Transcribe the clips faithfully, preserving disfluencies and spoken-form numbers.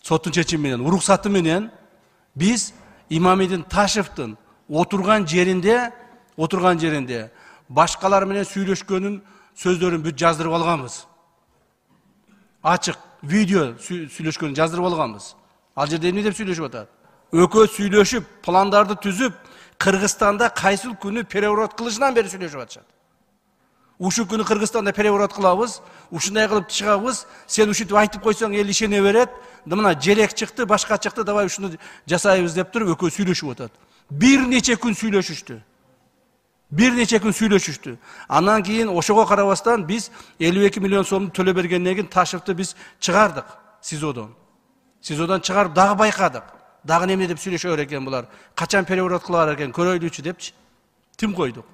соттун чечими менен, уруксаты менен биз Имамидин Ташевдин отурган жеринде, отурган жеринде башкалар менен сүйлөшкөнүн сөздөрүн бүт жаздырып алганбыз. Ачык видео сүйлөшкөнүн жаздырып алганбыз. Ал жерде эмне деп сүйлөшүп атат? Өкө сүйлөшүп, пландарды түзүп, Кыргызстанда кайсыл күнү переворот кылышынан бери сүйлөшүп атышат. Ушул күнү Кыргызстанда переворот кылабыз, ушундай кылып чыгабыз, сен ушинтип айтып койсоң эл ишене берет. Мына желек чыкты, башка чыкты, давай ушуну жасайбыз деп туруп өкө сүйлөшүп атат. Бир нече күн сүйлөшүштү. Бир нече күн сүйлөшүштү. Андан кийин ошого карабастан биз элүү эки миллион сомду төлө бергенден кийин Ташевди биз чыгардык СИЗОдон. СИЗОдон чыгарып дагы байкадык. Дагы эмне деп сүйлөшөр экен булар? Качан переворот кылар экен, көрөйлүчү депчи. Тим койдук.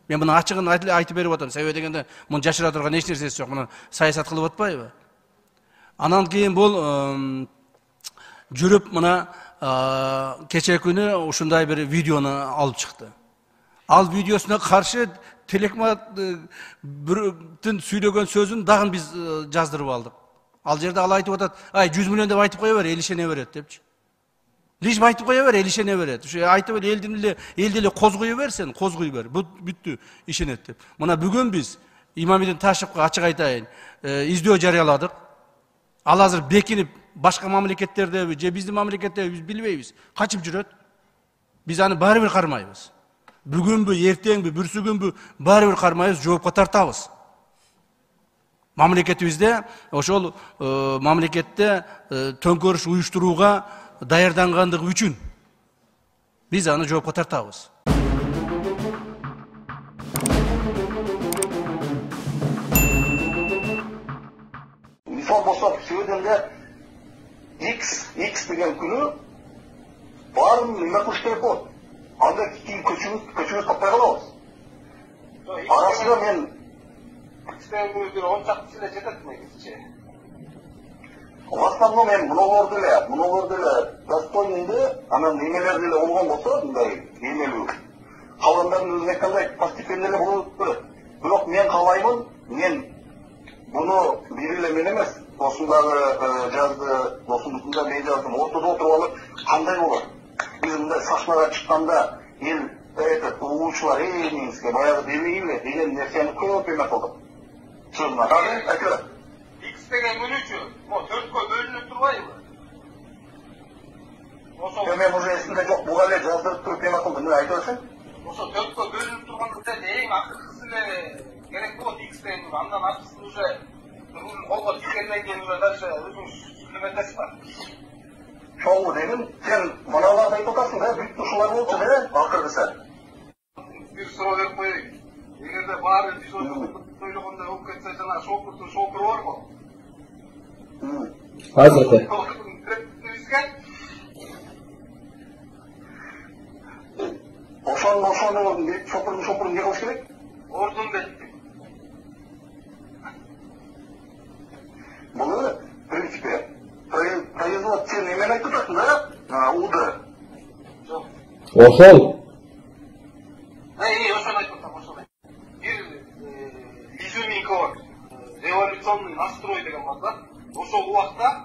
Мен муну ачыгын айтып берип атам. Себеби дегенде муну жашыра турган эч нерсеси жок. Муну саясат кылып атпайбы? Анан кийин бул жүрүп мына кече күнү ушундай бир видеону алып чыкты. Ал видеосуна каршы Телекматтын сүйлөгөн сөзүн дагы биз жаздырып алдык. Ал жерде ал айтып атат, ай жүз миллион деп айтып кое бер, эл ишене берет депчи. Лиш айтып кое бер, эл ишене берет. Ушу айтып эле элдин эле элди эле козгой берсен, козгой бер. Бүттү, ишенет деп. Мына бүгүн биз Имамидин Ташевге ачык айтайын, издөө жарыяладык. Ал азыр бекинип башка мамлекеттердеби, же биздин мамлекеттеби биз билбейбиз. Качып жүрөт. Биз аны баары бир кармайбыз. Бүгүнбү, эртеңби, бүрсүгүнбү баары бир кармайбыз, жоопко тартабыз. Мамлекетибизде ошол мамлекетте төңкөрүш уюштурууга даярдангандыгы үчүн биз аны жоопко тартабыз. Мисал болсо, сөйдөнгө X, X деген күнү баарын эме кылыш керек болот. Анда кийин көчүбүз, көчүбүз таппай калабыз. Арасында мен X-тен күнү он чакты эле жетет негизичи. В основном мен мунуларды эле, мунуларды эле достойнунду, анан немелер деле болгон болсо, мындай эмелүү. Калгандардын өзүн айткандай постепенно эле болуп турат. Бирок мен каалаймын, мен буну бир эле мен эмес, досумдагы жазды, досумдукунда мен жаздым, ортодо отуруп алып, кандай болот? Биз мындай сахнага чыкканда эл этот угуучулар эмеңизге баягы демейби деген нерсени көп эме кылдык. Чынына айтып X деген күнүчү, мо төрткө бөлүнүп турбайбы? Ошо мен уже эсимде жок, буга эле жаздырып туруп эме кылдым, мына айтып атсаң. Ошо төрткө бөлүнүп турганда эң акыркысы эле керек болот X деген, андан артысын уже колго тийгенден кийин уже дальше өзүңүз сүйлөмөтөсүз бар. Чоңу дегим, сен мыналарды айтып атасың да, бүт ушулар болчу да, акыркысы. Бир суроо берип коеюн. Эгерде баары биз ойлогондой болуп кетсе, жана шокурдун шокуру барбы? Азыркы. Ошон ошону шокурдун шокурун эмне кылыш керек? Ордун дейт. Бул в принципе производ сен эмени айтып атасың да? Уды. Жок. Ошол. Эй, ошону айтып атам, ошону. Бир изюминка бар. Революционный настрой деген бар да. Ошол убакта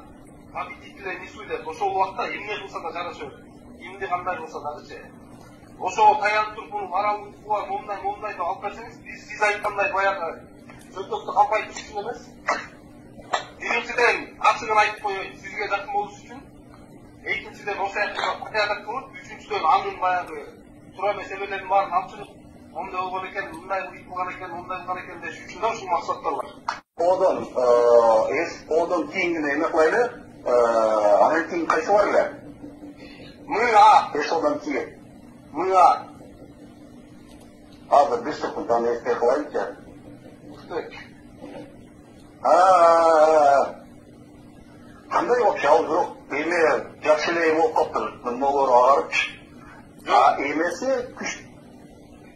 победителей не судят. Ошол убакта эмне кылса да жараша берет. Эмне кандай кылса дагычы. Ошо таянып туруп муну моралдык бар, момундай, момундай деп алып берсеңиз, биз сиз айткандай баягы сөздөктү кампай түшүн эмес. Биринчиден ачыгын айтып коеюн, сизге жакын болуш үчүн. Экинчиден ошо порядок кылып, үчүнчүдөн анын баягы туура маселелердин баарын алып чыгып, мондай болгон экен, мындай кылган экен, мондай кылган экен деш үчүн да ушул максаттар бар. Одон, эс одон кийингине эме кылайлы, анан кийин кайсы бар эле? Мы-а. Эс одон кийин. Мы-а. Азыр бир секунддан эске кылайынчы. Успек. Кандай вообще ал бирок эме жакшы эле болуп калыптыр. Мыналар агарып. А эмеси күч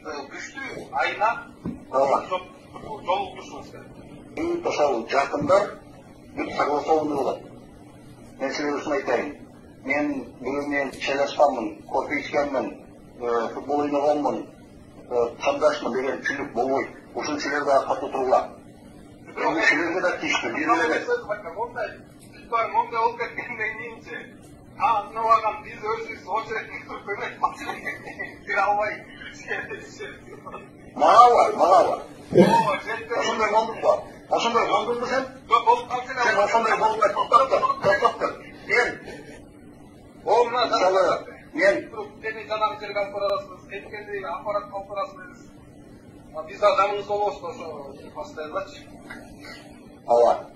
күчтүү айына жолуктушубуз керек. И ошол жакындар бүт согласованный болот. Мен сизге ушуну айтайын. Мен бүгүн мен чайлашканмын, кофе ичкенмин, футбол ойногонмун, кандашмын деген түшүнүк болбойт. Ушул силер дагы катуу туруңар. Силерге да тийиштүү, бир эле эмес. Мондай, мондай болуп кеткенден кийинчи А, мынабаган биз өзүбүз очередке туруп көрөйүк, бир албай. Мага бар, мага бар. Ооба, жетти. Ошондой болдуңбу? Ошондой болдуңбу сен? Жок, болуп калды сен. Сен ошондой болбой токтоп тур, токтоп тур. Мен О, мына мисалы мен сени жанагы жерге алып барасыз, кеткенди аппарат алып барасыз. Биз да жаныңызда болобуз, ошо постоянночу. ооба.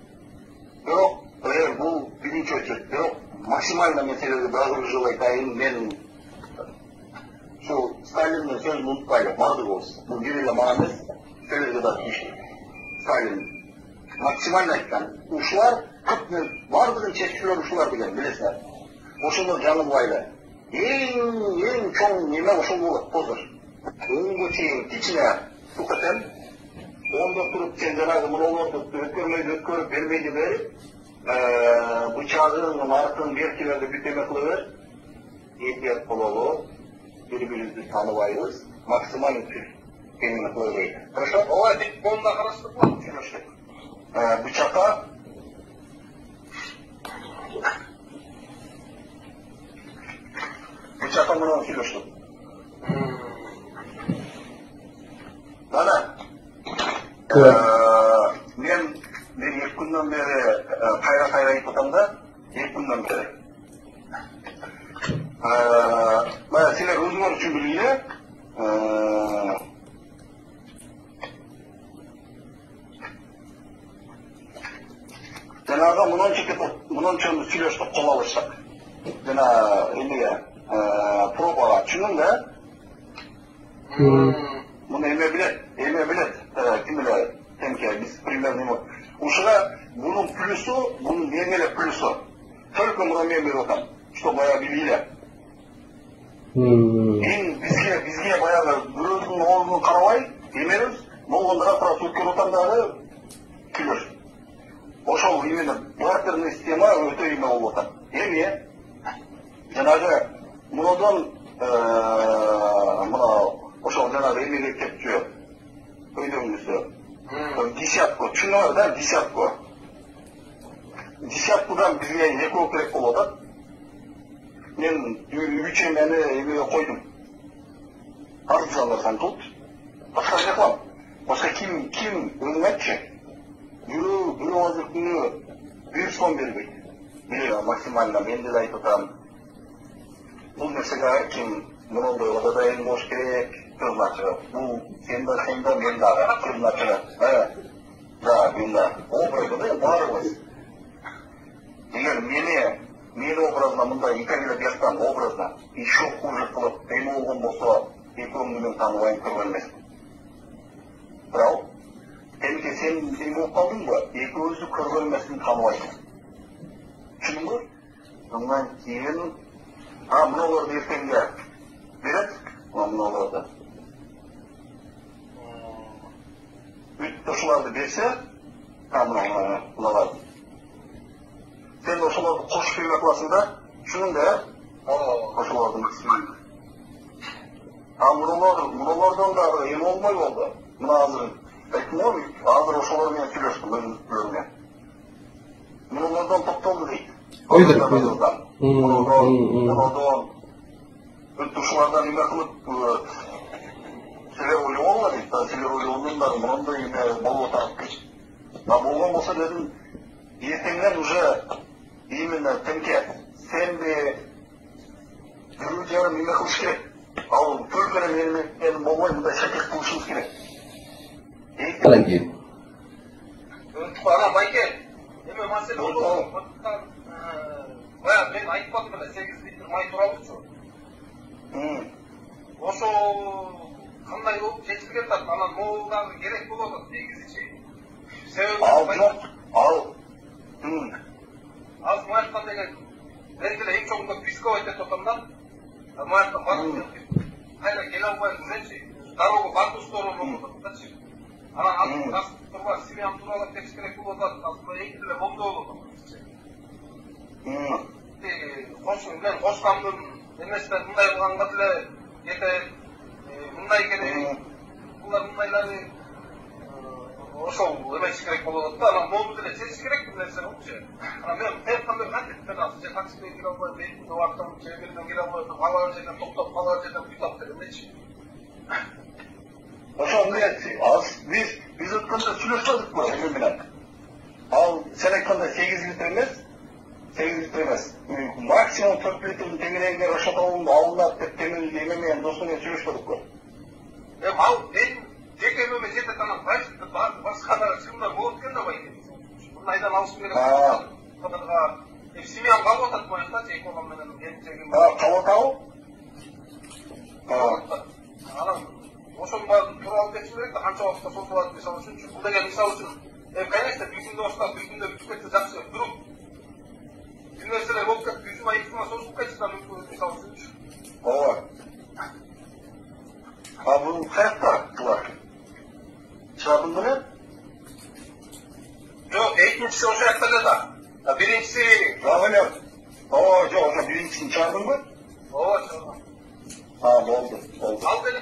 Бирок, эгер бул биринчи очередь, бирок максимально маселеде дагы бир жолу айтайын, мен ушул Сталиндин сөзүн унутпайлы, барды болсун. Бул бир эле мага эмес, силерге да тийиштүү. Сталин максимально айткан. Ушулар көп бардыгын чечкилер ушулар деген, билесиңер. Ошондор жаңылбайлы. Эң эң чоң неме ошол болот, позор. Оңго чейин кичине сукатен, ондо туруп сен жанагы муролорду өткөрмөйдү, өткөрүп бербейди берип, бычагын, артын, беркилерди бүтөмө кылып бер. Эпият болобу, бири-бирибизди тааныбайбыз, максимально түз эмне кыла берейик. Хорошо? Ооба, деп болунда караштырып Түшүнүштүк. Бычакка Бычакка менен сүйлөштүк. Мана мен мен эки күндөн бери кайра-кайра айтып атам да, эки күндөн бери. Мына силер өзүңөр үчүн билгиле, жанагы мынанча мынанча сүйлөштүк, кол алыштык. Жана эмеге пробага түшүнүң да? Муну эме билет, эме билет, ким эле темке, биз примерно ушуга бунун плюсу, бунун эң эле плюсу. Только муну мен берип атам, что баягы билгиле. Эң бизге бизге баягы бирөөнүн оозуна карабай, эмебиз, болгондо раз өткөрүп атам дагы күлөш. Ошол именно бартерный система өтө эме болуп атат. Эми жанагы мунодон мына ошол жанагы эмеге кепчү өйдөңүзү. Десятку, түшүнүңөр да, десятку. Десяткудан бизге экөө керек болуп атат. Мен үч эмени эмеге койдум. Арзандар сантут. Башка не кылам. Башка ким ким өзүң айтчы. Бирөө бирөө азыр күнү бир сом бербейт. Мен максимально мен деле айтып атам. Бул нерсеге ким мундой да эң болуш керек. Кызмачы. Бул сен да сен да мен дагы кызмачы. Да, мен да. Образы барыбыз. Эгер мени мени образына мындай икагиле бияктан образына еще хуже кылып эме болгон болсо, экөөңдү мен тааныбайм, көргөн эмесмин. Бирок Темке сен эме болуп калдыңбы? Экөөбүздү көргөн эмесин тааныбайсың. Түшүндүңбү? Андан кийин а мыналарды эртеңге берет, мыналарды. Бүт ошоларды берсе, а мыналарды. Сен ошоларды кошуп эме кыласың да, түшүнүң да? Ошоларды максимально. А мыналардан дагы эме болмой болду. Мына азыр айттым го, азыр ошолор менен сүйлөштүм өзүмдүн. Мыналардан токтолду дейт. Койдур, койдур. Мыналардан бүт ушулардан эме кылып силер ойлогонго дейт, силер ойлогондор мындай эме болуп атат дейт. А болгон болсо дедим, эртеңден уже именно темке сенби бирөө жарым эме кылыш керек. Ал только менен болбой мындай шакек кылышыбыз керек. Калай кийин. Ана байке, эме маселе болду. Баягы мен айтпадым эле сегиз литр май тууралуучу. Ошо кандай болуп чечилген атат, анан могул дагы керек болуп атат негизичи. Себеби ал жок, ал аз маяктан деген мен деле эң чоңунда писковать этип атам да. Маяктан барып кайра келе албайбыз элчи. Дорога бардык сторону болуп ататчы. Анан азыр газ турба семьям тууралап кетиш керек болуп атат. Азыр эң деле болду болуп атат. Кошу мен кошкамдын эмесинен мындай кылганга деле кетет. Мындай керек. Булар мындайлары ошол эмес керек болот да, анан мону деле чечиш керек бул нерсени болчу. Анан мен тез кандай кантип берасыз, же таксимен кире албайм, бензин убактым, же бирден кире албайм, калган жерден токтоп, калган жерден буйтап деп эмнечи. Ошо эмне, аз биз биз өткөндө сүйлөшпөдүкпү сен менен? Ал сен айткандай сегиз литр эмес, сегиз литр эмес. Максимум төрт литрдин теңирээге Рашат алынат деп темелди эме менен досу менен сүйлөшпөдүкпү? Эми ал мен жеке эме жетет анан башка да чыгымдар болот экен да байке. Муну айдан алышым керек. Кадырга эми семьям калып атат баягы же эконом менен келинчегим. А, калып атабы? Анан ошонун баарын туура алып кетишим керек да, канча убакытта созулат мисалы үчүн. Бул деген мисалы үчүн, эми конечно бир күндө баштап бир күндө бүтүп кетсе жакшы, бирок бир нерселер болуп кетип бир жума эки жума созулуп кетсе да мүмкүн мисалы үчүн. Ооба. А бул каякта булар? Чабын менен? Жок, экинчиси ошол жакта эле да. Биринчиси Жабын. Оо, жок, ошо биринчисин чабынбы? ооба чабын. А, болду, болду. Ал деле